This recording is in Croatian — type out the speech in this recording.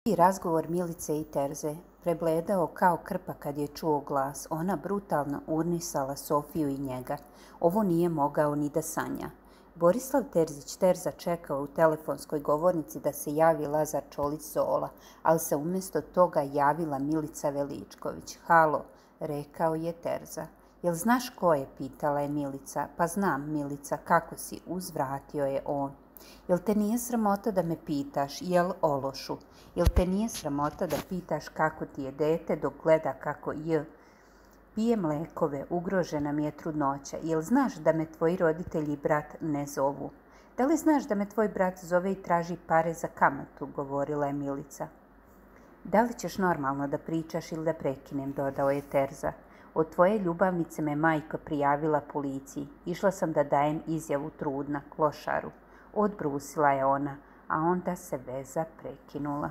I razgovor Milice i Terze prebledao kao krpa kad je čuo glas. Ona brutalno urnisala Sofiju i njega. Ovo nije mogao ni da sanja. Borislav Terzić Terza čekao u telefonskoj govornici da se javi Lazar Čolić Zola, ali se umjesto toga javila Milica Veličković. Halo, rekao je Terza. Jel znaš ko je, pitala je Milica. Pa znam, Milica, kako si, uzvratio je on. Jel te nije sramota da me pitaš, jel ološu? Jel te nije sramota da pitaš kako ti je dete dok gleda kako pije mlekove, ugrožena mi je trudnoća. Jel znaš da me tvoji roditelji i brat ne zovu? Da li znaš da me tvoj brat zove i traži pare za kamatu, govorila je Milica. Da li ćeš normalno da pričaš ili da prekinem, dodao je Terza. Od tvoje ljubavnice me majka prijavila policiji. Išla sam da dajem izjavu trudna, klošaru. Odbrusila je ona, a onda se veza prekinula.